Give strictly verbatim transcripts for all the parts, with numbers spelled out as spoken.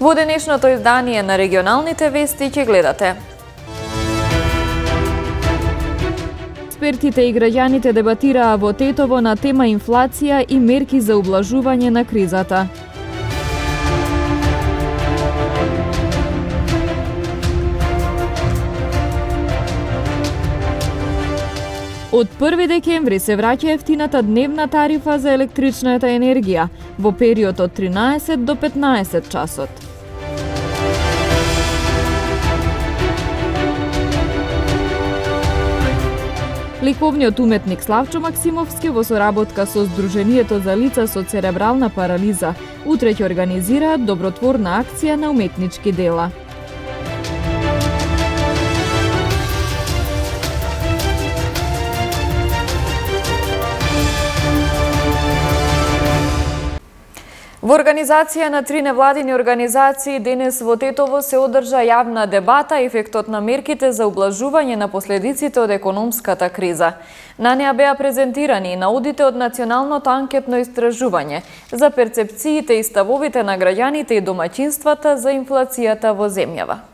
Во денешното издание на регионалните вести ќе гледате. Експертите и граѓаните дебатираа во Тетово на тема инфлација и мерки за ублажување на кризата. Од први декември се враќа ефтината дневна тарифа за електричната енергија во период од тринаесет до петнаесет часот. Лековниот уметник Славчо Максимовски во соработка со Сдруженијето за лица со церебрална парализа утре ќе организираат добротворна акција на уметнички дела. Во организација на три невладини организации денес во Тетово се одржа јавна дебата ефектот на мерките за ублажување на последиците од економската криза. На неа беа презентирани и наудите од Националното анкетно истражување за перцепциите и ставовите на граѓаните и домаќинствата за инфлацијата во земјава.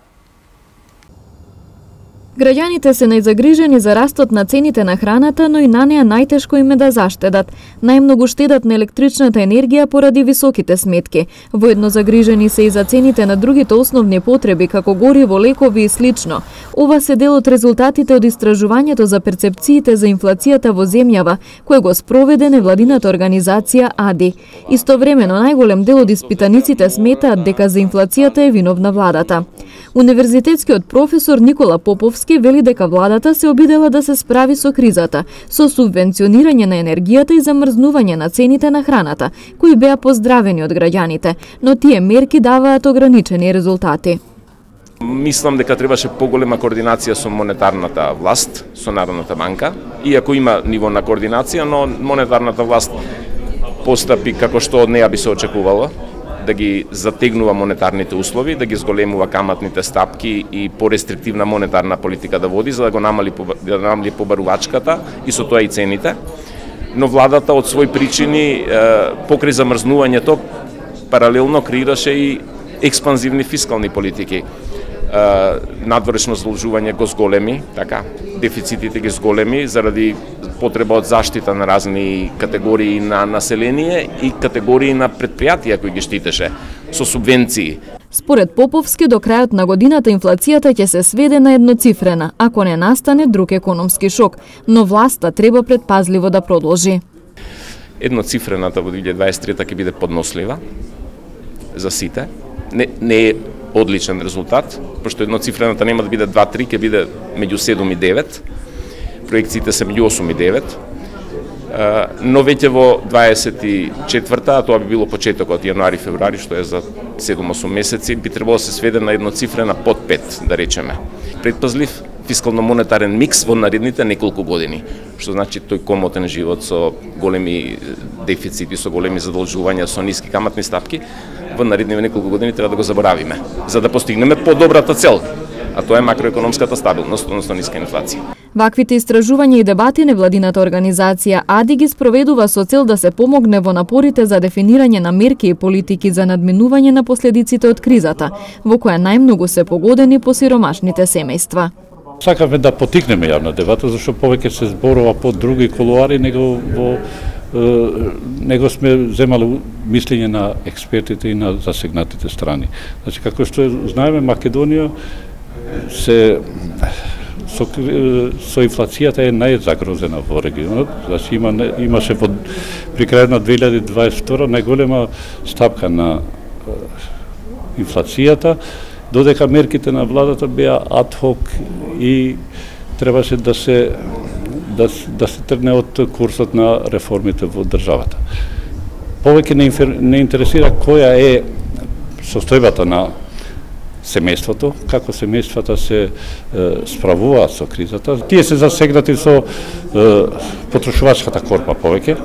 Граѓаните се најзагрижени за растот на цените на храната, но и на неа најтешко им е да заштедат. Најмногу штедат на електричната енергија поради високите сметки. Воедно загрижени се и за цените на другите основни потреби, како гориво, лекови и слично. Ова се дел од резултатите од истражувањето за перцепциите за инфлацијата во земјава, кој го спроведе невладината организација АДИ. Истовремено, најголем дел од испитаниците сметаат дека за инфлацијата е виновна владата. Универзитетскиот професор Никола Поповски вели дека владата се обидела да се справи со кризата, со субвенционирање на енергијата и замрзнување на цените на храната, кои беа поздравени од граѓаните, но тие мерки даваат ограничени резултати. Мислам дека требаше поголема координација со монетарната власт, со Народната банка, иако има ниво на координација, но монетарната власт постапи како што од неа би се очекувало, да ги затегнува монетарните услови, да ги зголемува каматните стапки и порестриктивна монетарна политика да води, за да го намали, да намали побарувачката и со тоа и цените. Но владата од своји причини, покрај замрзнувањето, паралелно креираше и експанзивни фискални политики. Надворешно задолжување го зголеми, така, дефицитите ги зголеми заради потреба од заштита на разни категории на население и категории на предпријатија кои ги штитеше со субвенции. Според Поповски, до крајот на годината инфлацијата ќе се сведе на едноцифрена, ако не настане друг економски шок, но власта треба предпазливо да продолжи. Едноцифрената во две илјади дваесет и трета ќе биде поднослива за сите. Не, не е одличен резултат, пошто едноцифрената нема да биде два три, ќе биде меѓу седум и девет. Проекциите се меѓу осум и девет. Но веќе во дваесет и четврта, а тоа би било почетокот јануари-февруари, што е за седум-осум месеци, би требало да се сведе на едноцифрена под пет, да речеме. Предпазлив фискално-монетарен микс во наредните неколку години, што значи тој комотен живот со големи дефицити, со големи задолжувања, со ниски каматни стапки, во наредните неколку години треба да го заборавиме, за да постигнеме подобрата цел, а тоа е макроекономската стабилност, односно ниска инфлација. Ваквите истражувања и дебати невладината организација АДИ ги спроведува со цел да се помогне во напорите за дефинирање на мерки и политики за надминување на последиците од кризата, во која најмногу се погодени посиромашните семејства. Сакаме да потикнеме јавна дебата, зашто повеќе се зборува по други колуари, него во него сме земали мислење на експертите и на засегнатите страни. Значи, како што знаеме, Македонија се со, со инфлацијата е најзагрозена во регионот. Значи, има, имаше под, при крајот на две илјади дваесет и втора најголема стапка на инфлацијата, додека мерките на владата беа адхок и требаше да се да, да се тргне од курсот на реформите во државата. Повеќе не, не интересира која е состојбата на семејството, како семејствата се е, справуваат со кризата. Тие се засегнати со е, потрошувачката корпа повеќе,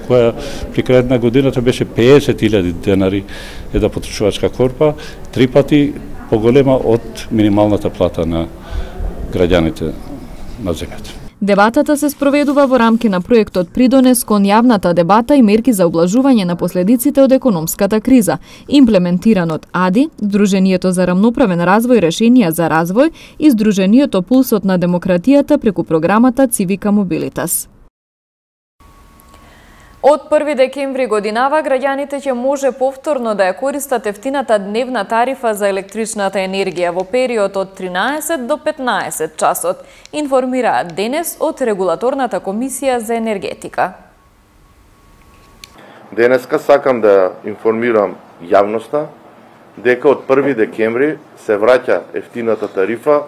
која при крајот на годината беше пеесет илјади денари една потрошувачка корпа, три пати поголема од минималната плата на граѓаните на земјата. Дебатата се спроведува во рамки на проектот Придонес кон јавната дебата и мерки за облажување на последиците од економската криза, имплементиран од АДИ, Сдруженијето за рамноправен развој решенија за развој и Сдруженијето Пулсот на демократијата преку програмата Цивика Мобилитас. Од први декември годинава граѓаните ќе може повторно да ја користат ефтината дневна тарифа за електричната енергија во период од тринаесет до петнаесет часот, информираат денес од Регулаторната комисија за енергетика. Денеска сакам да информирам јавноста дека од први декември се враќа ефтината тарифа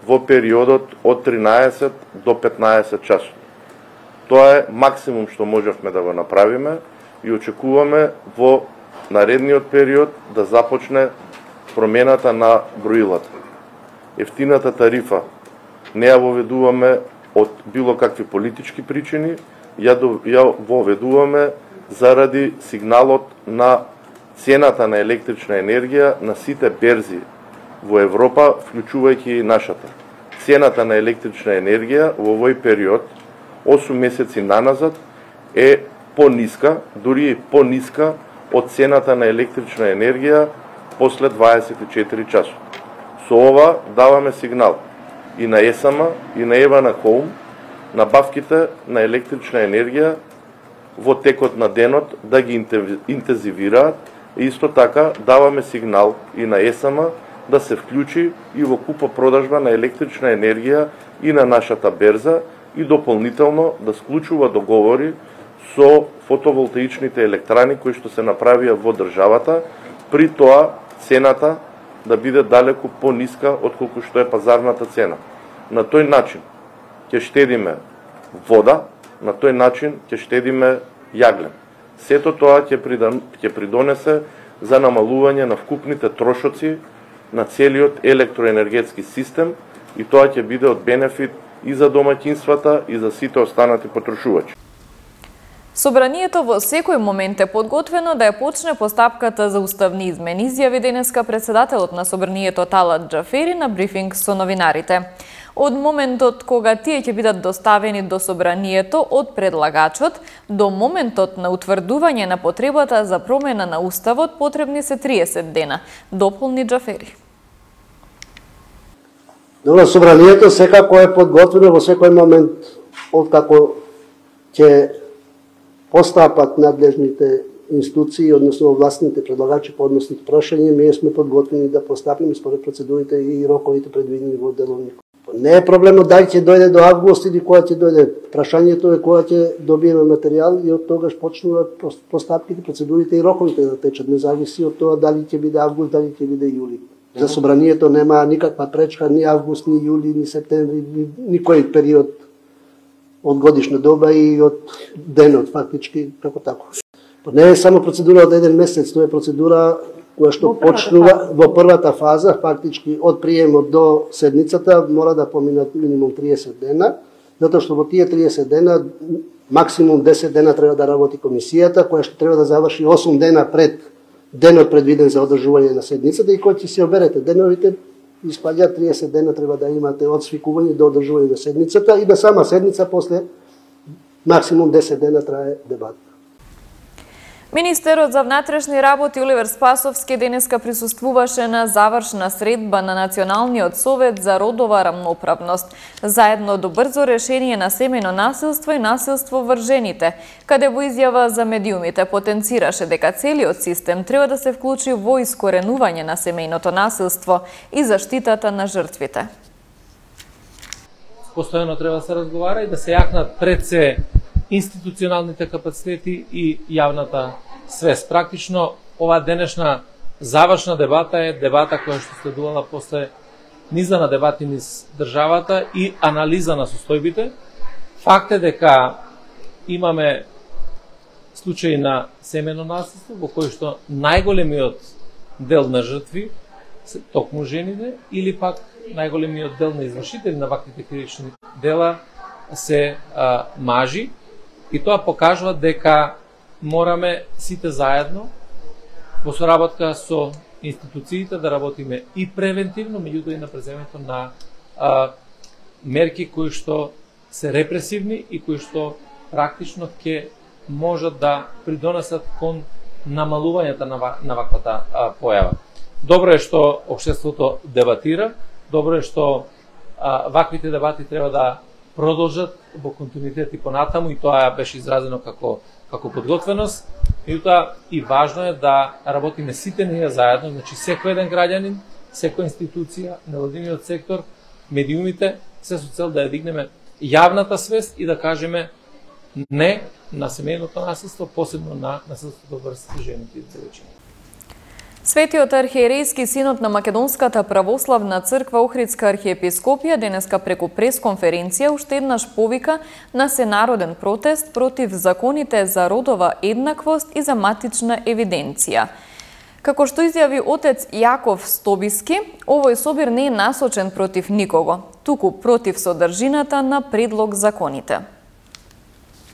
во периодот од тринаесет до петнаесет часот. Тоа е максимум што можевме да го направиме и очекуваме во наредниот период да започне промената на броилата. Ефтината тарифа не ја воведуваме од било какви политички причини, ја, ја воведуваме заради сигналот на цената на електрична енергија на сите берзи во Европа, вклучувајќи и нашата. Цената на електрична енергија во овој период осум месеци наназад е пониска, дури и пониска од цената на електрична енергија после дваесет и четири часот. Со ова даваме сигнал и на ЕСАМА и на Евана Хоум набавките на електрична енергија во текот на денот да ги интензивираат и исто така даваме сигнал и на ЕСАМА да се вклучи и во купо-продажба на електрична енергија и на нашата берза и дополнително да склучува договори со фотоволтаичните електрани кои што се направија во државата, при тоа цената да биде далеку пониска од колку што е пазарната цена. На тој начин ќе штедиме вода, на тој начин ќе штедиме јаглен. Сето тоа ќе ќе придонесе за намалување на вкупните трошоци на целиот електроенергетски систем и тоа ќе биде од бенефит и за домаќинствата и за сите останати потрошувачи. Собранието во секој момент е подготвено да ја почне постапката за уставни измени, изјави денеска председателот на Собранието Талат Џафери на брифинг со новинарите. Од моментот кога тие ќе бидат доставени до Собранието од предлагачот, до моментот на утврдување на потребата за промена на уставот потребни се триесет дена, дополни Џафери. Добро, Собранието секако е подготвено во секој момент откако ќе постапат надлежните институции, односно властните предлагачи по односните прошања, ние сме подготвени да постапиме според процедурите и роковите предвидени во деловникот. Не е проблемот дали ќе дојде до август или кога ќе дојде. Прашањето е кога ќе добиеме материјал и од тогаш почнуваат постапките, процедурите и роковите да течат. Не зависи од тоа дали ќе биде август, дали ќе биде јули. За Собранието нема никаква пречка, ни август, ни јули, ни септември, ни никој период од годишна доба и од денот, фактички, како тако. Не е само процедура од еден месец, тоа е процедура која што почнува во првата фаза, фактички од приемот до седницата, мора да поминат минимум триесет дена, затоа што во тие триесет дена, максимум десет дена треба да работи комисијата, која што треба да заврши осум дена пред денот предвиден за одржување на седницата и кој ќе се оберете деновите, испаѓа триесет дена треба да имате од свикување до одржување на седницата и на сама седница после максимум десет дена трае дебат. Министерот за внатрешни работи Оливер Спасовски денеска присуствуваше на завршна средба на Националниот совет за родова рамноправност, заедно до брзо решение на семејно насилство и насилство врз жените, каде во изјава за медиумите потенцираше дека целиот систем треба да се вклучи во искоренување на семејното насилство и заштитата на жртвите. Постојано треба да се разговара и да се јакнат пред се институционалните капацитети и јавната свест. Практично, ова денешна завршна дебата е дебата која што следувала после низа на дебати низ државата и анализа на состојбите. Факт е дека имаме случаи на семејно насилство во кој што најголемиот дел на жртви се токму жените или пак најголемиот дел на извршители на ваквите кривични дела се а, мажи. И тоа покажува дека мораме сите заедно во соработка со институциите да работиме и превентивно, меѓутоа и на преземањето на а, мерки кои што се репресивни и кои што практично ќе можат да придонесат кон намалувањето на, на ваквата а, појава. Добро е што општеството дебатира, добро е што а, ваквите дебати треба да продолжат во континуитет и понатаму, и тоа беше изразено како како подготвеност. Меѓутоа и важно е да работиме сите ние заедно, значи секој еден граѓанин, секоја институција, невладиниот сектор, медиумите, се со цел да ја дигнеме јавната свест и да кажеме не на семејното насилство, посебно на насилството врз жените и девојчињата. Светиот архиерејски синод на Македонската православна црква Охридска архиепископија денеска преку пресконференција уште еднаш повика на сенароден протест против законите за родова еднаквост и за матична евиденција. Како што изјави отец Јаков Стобиски, овој собир не е насочен против никого, туку против содржината на предлог законите.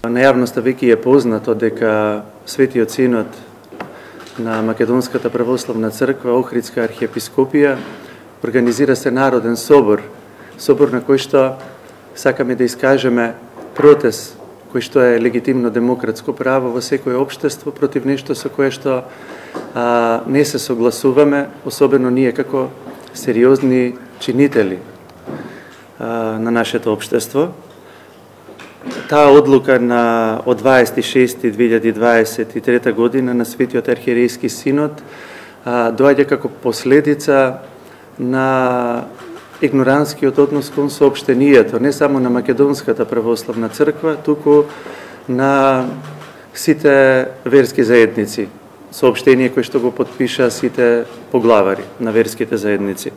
На јавноста веќе е познато дека Светиот синод на Македонската православна црква Охридска архиепископија организира се народен собор, собор на кој што сакаме да искажеме протест, кој што е легитимно демократско право во секое општество против нешто со кое што а, не се согласуваме, особено ние како сериозни чинители а, на нашето општество. Таа одлука на од дваесет и шести две илјади дваесет и трета година на Светиот архиерејски синод а, доаѓа како последица на игноранскиот однос кон соопштението, не само на Македонската православна црква, туку на сите верски заедници. Соопштение кој што го потпиша сите поглавари на верските заедници.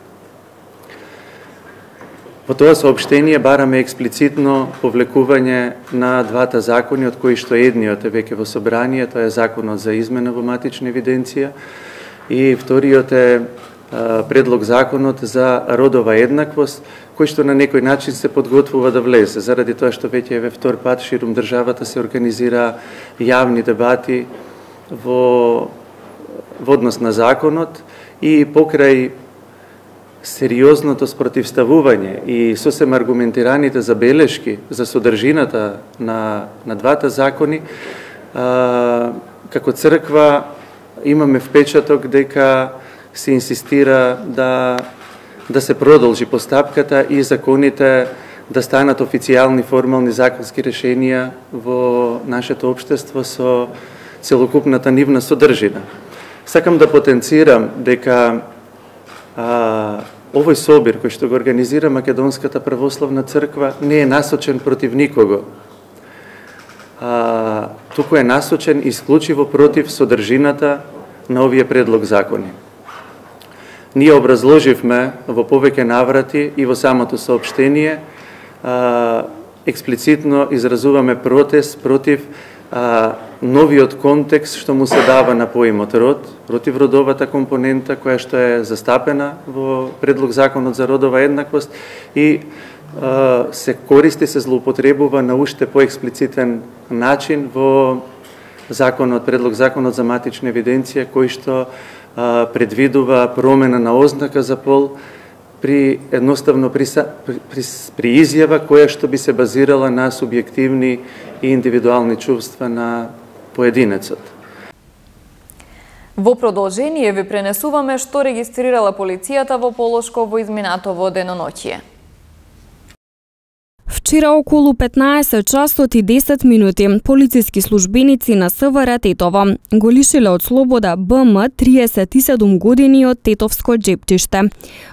Во тоа соопштение бараме експлицитно повлекување на двата закони, од кои што едниот е веќе во собрание, тоа е законот за измена во матична евиденција, и вториот е а, предлог законот за родова еднаквост, кој што на некој начин се подготвува да влезе, заради тоа што веќе еве втор пат ширум државата се организира јавни дебати во, во однос на законот и покрај сериозното спротивставување и сосем аргументираните забелешки за содржината на, на двата закони, а, како црква имаме впечаток дека се инсистира да, да се продолжи постапката и законите да станат официјални формални законски решенија во нашето општество со целокупната нивна содржина. Сакам да потенцирам дека а, овој собир кој што го организира Македонската православна црква не е насочен против никого. А, туку е насочен исклучиво против содржината на овие предлог закони. Ние образложивме во повеќе наврати и во самото соопштение, а, експлицитно изразуваме протест против а, новиот контекст што му се дава на поимот род, против родовата компонента која што е застапена во предлог законот за родова еднаквост и а, се користи, се злоупотребува на уште поексплицитен начин во законот, предлог законот за матична евиденција, кој што а, предвидува промена на ознака за пол при едноставно при, при, при, при изјава која што би се базирала на субјективни и индивидуални чувства на поединецот. Во продолжение ви пренесуваме што регистрирала полицијата во Полошко во изминатово деноноќие. Вчера околу петнаесет часот и десет минути полициски службеници на СВР Тетово го лишиле од слобода Б М триесет и седум години од Тетовско џепчиште,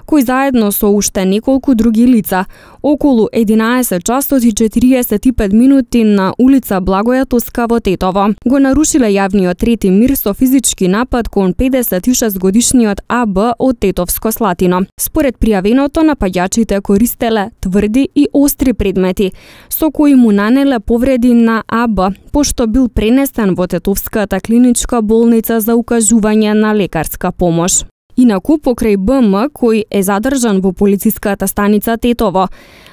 кој заедно со уште неколку други лица околу единаесет часот и четириесет и пет минути на улица Благоја Тоска во Тетово го нарушиле јавниот ред и мир со физички напад кон педесет и шест годишниот А Б од Тетовско Слатино. Според пријавеното, напаѓачите користеле тврди и остри предмети, со кои му нанеле повреди на А Б, пошто бил пренесен во Тетовската клиничка болница за укажување на лекарска помош. Инаку, покрај Б М, кој е задржан во полициската станица Тетово,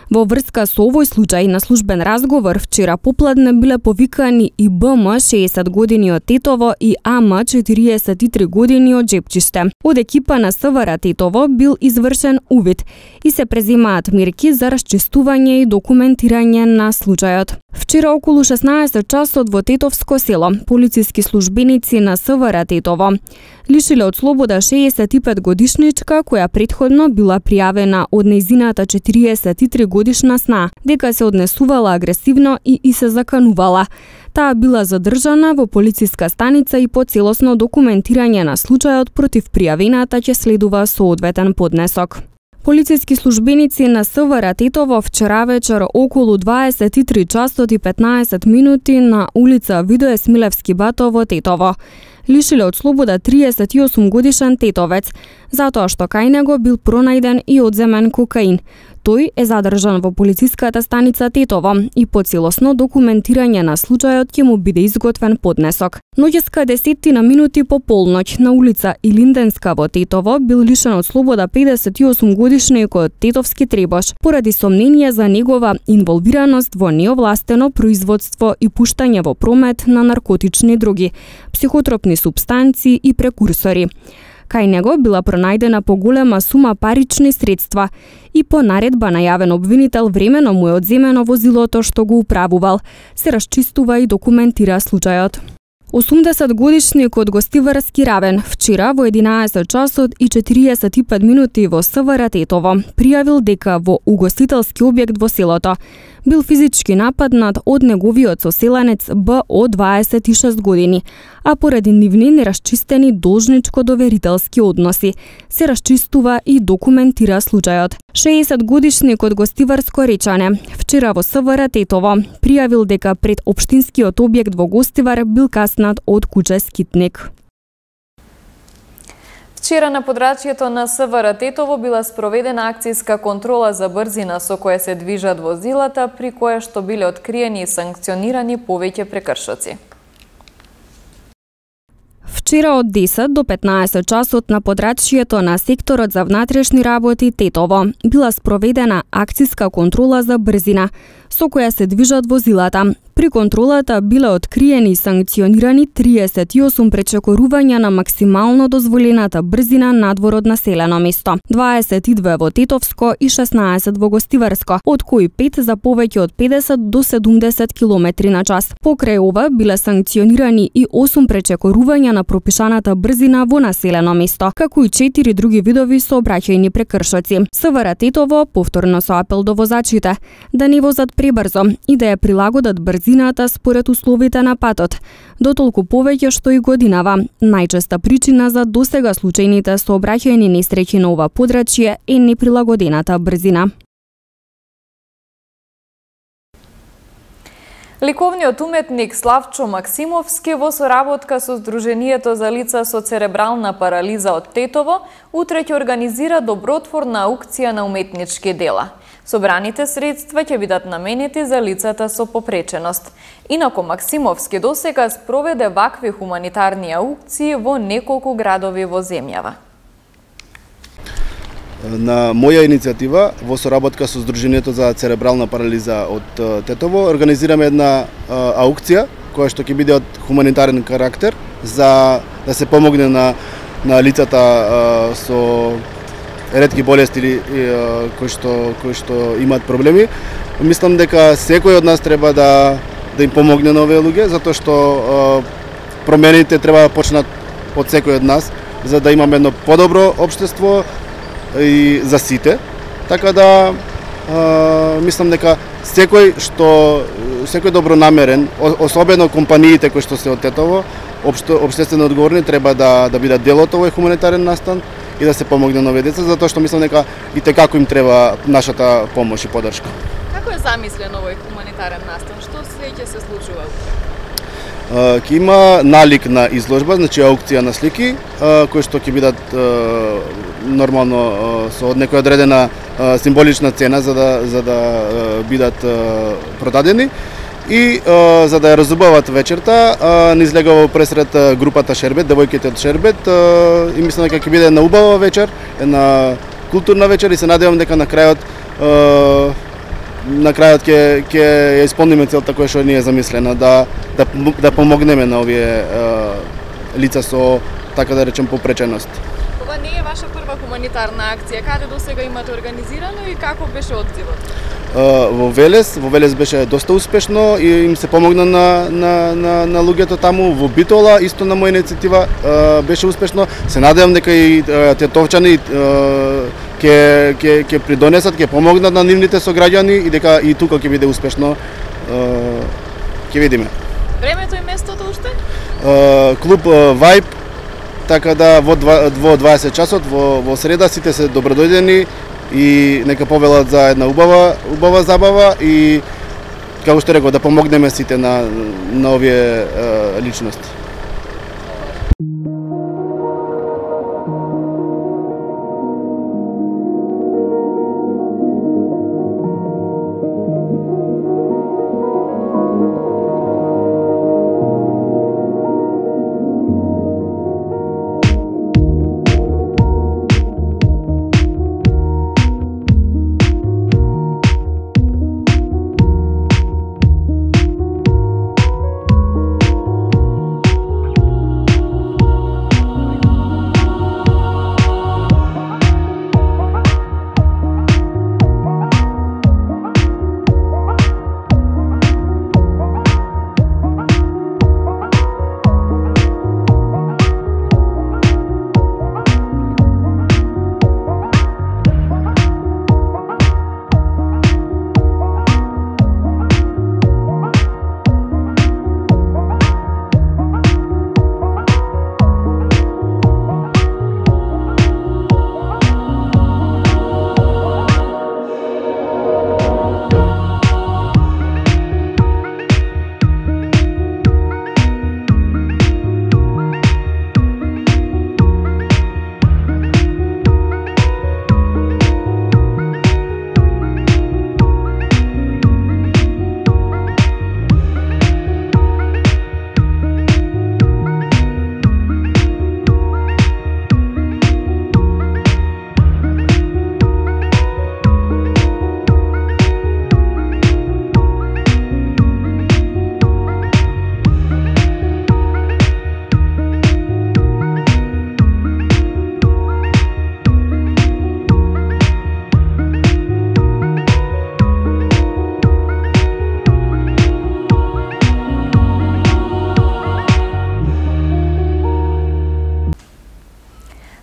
Во врска со овој случај на службен разговор вчера попладне биле повикани и Б М шеесет години од Тетово и А М четириесет и три години од Жепчиште. Од екипа на С В Р Тетово бил извршен увид и се преземаат мерки за расчистување и документирање на случајот. Вчера околу шеснаесет часот во Тетовско село полициски службеници на С В Р Тетово лишиле од слобода шеесет и пет годишничка која претходно била пријавена од нејзината четириесет и три годишна сна дека се однесувала агресивно и и се заканувала. Таа била задржана во полициска станица и по целосно документирање на случајот против пријавената ќе следува соодветен поднесок. Полициски службеници на С В Р Тетово вчера вечер околу дваесет и три часот и петнаесет минути на улица Видое Смилевски бато во Тетово лишиле од слобода триесет и осум годишен тетовец, затоа што кај него бил пронајден и одземен кокаин. Тој е задржан во полициската станица Тетово и по целосно документирање на случајот ќе му биде изготвен поднесок. Ноќеска десеттина минути по полноќ на улица Илинденска во Тетово бил лишен од слобода педесет и осум годишникот Тетовски Требош поради сомнение за негова инволвираност во неовластено производство и пуштање во промет на наркотични други, психотропни супстанции и прекурсори. Кај него била пронајдена поголема сума парични средства и по наредба на јавен обвинител времено му е одземено возилото што го управувал. Се расчистува и документира случајот. осумдесет годишникот Гостиварски Равен вчера во единаесет часот и четириесет и пет минути во С В Р Тетово пријавил дека во угостителски објект во селото бил физички нападнат од неговиот соселенец Б О дваесет и шест години, а поради нивни нерасчистени должничко-доверителски односи се расчистува и документира случајот. шеесет годишникот Гостиварско Речане вчера во С В Р Тетово пријавил дека пред општинскиот објект во Гостивар бил каснат од куче скитник. Вчера на подрачјето на С В Р Тетово била спроведена акцијска контрола за брзина со која се движат возилата, при која што биле откриени и санкционирани повеќе прекршоци. Вчера од десет до петнаесет часот на подрачјето на секторот за внатрешни работи Тетово била спроведена акцијска контрола за брзина со која се движат возилата. При контролата биле откриени и санкционирани триесет и осум пречекорувања на максимално дозволената брзина надвор од населено место, дваесет и две во Тетовско и шеснаесет во Гостиварско, од кои пет за повеќе од педесет до седумдесет километри на час. Покрај ова биле санкционирани и осум пречекорувања на пропишаната брзина во населено место, како и четири други видови сообраќајни прекршоци. С В Р Тетово повторно со апел до возачите да не возат пребрзо и да ја прилагодат брзина според условите на патот, дотолку повеќе што и годинава. Најчеста причина за досега случајните сообраќајни несреќи на ова подрачје е неприлагодената брзина. Ликовниот уметник Славчо Максимовски во соработка со Сдруженијето за лица со церебрална парализа од Тетово утре ќе организира добротворна аукција на уметнички дела. Собраните средства ќе бидат наменети за лицата со попреченост. Инако Максимовски досега спроведе вакви хуманитарни аукции во неколку градови во земјава. На моја иницијатива, во соработка со Сдруженијето за церебрална парализа од Тетово, организираме една аукција која што ќе биде од хуманитарен карактер за да се помогне на на лицата со ретки болести или кои што кои што имаат проблеми. Мислам дека секој од нас треба да да им помогне на овие луѓе, затоа што промените треба да почнат од секој од нас за да имаме едно подобро општество и за сите. Така да а, мислам дека секој што секој добронамерен, особено компаниите кои што се од Тетово, општо општествено одговорни треба да да бидат дел од овој хуманитарен настан и да се помогне на овие деца, затоа што мислам дека и текако им треба нашата помош и поддршка. Како е замислен овој хуманитарен настан? Што се ќе се случува? Ќе има налик на изложба, значи аукција на слики, кои што ќе бидат нормално со некоја одредена символична цена за да за да бидат продадени. И а, за да ја разубават вечерта, ни излегува пресред групата Шербет, девојките од Шербет, а, и мислам дека ќе биде една убава вечер, една културна вечер и се надевам дека на крајот а, на крајот ќе ќе ја исполниме целта која што ни е замислена, да да да помогнеме на овие лица со, така да речем, попреченост. Ова не е ваша прва хуманитарна акција. Каде досега имате организирано и каков беше одзивот? Во Велес, во Велес беше доста успешно и им се помогна на на на на луѓето таму. Во Битола исто на моја иницијатива беше успешно. Се надевам дека и тетовчани ќе ќе ќе придонесат, ќе помогнат на нивните сограѓани и дека и тука ќе биде успешно. Ќе видиме. Времето и местото уште? Клуб Vibe, така да во во дваесет часот во во среда сите се добродојдени и нека повелат за една убава убава забава и како што реков да помогнеме сите на на овие е, личности.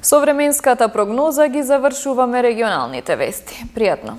Со временската прогноза ги завршуваме регионалните вести. Пријатно!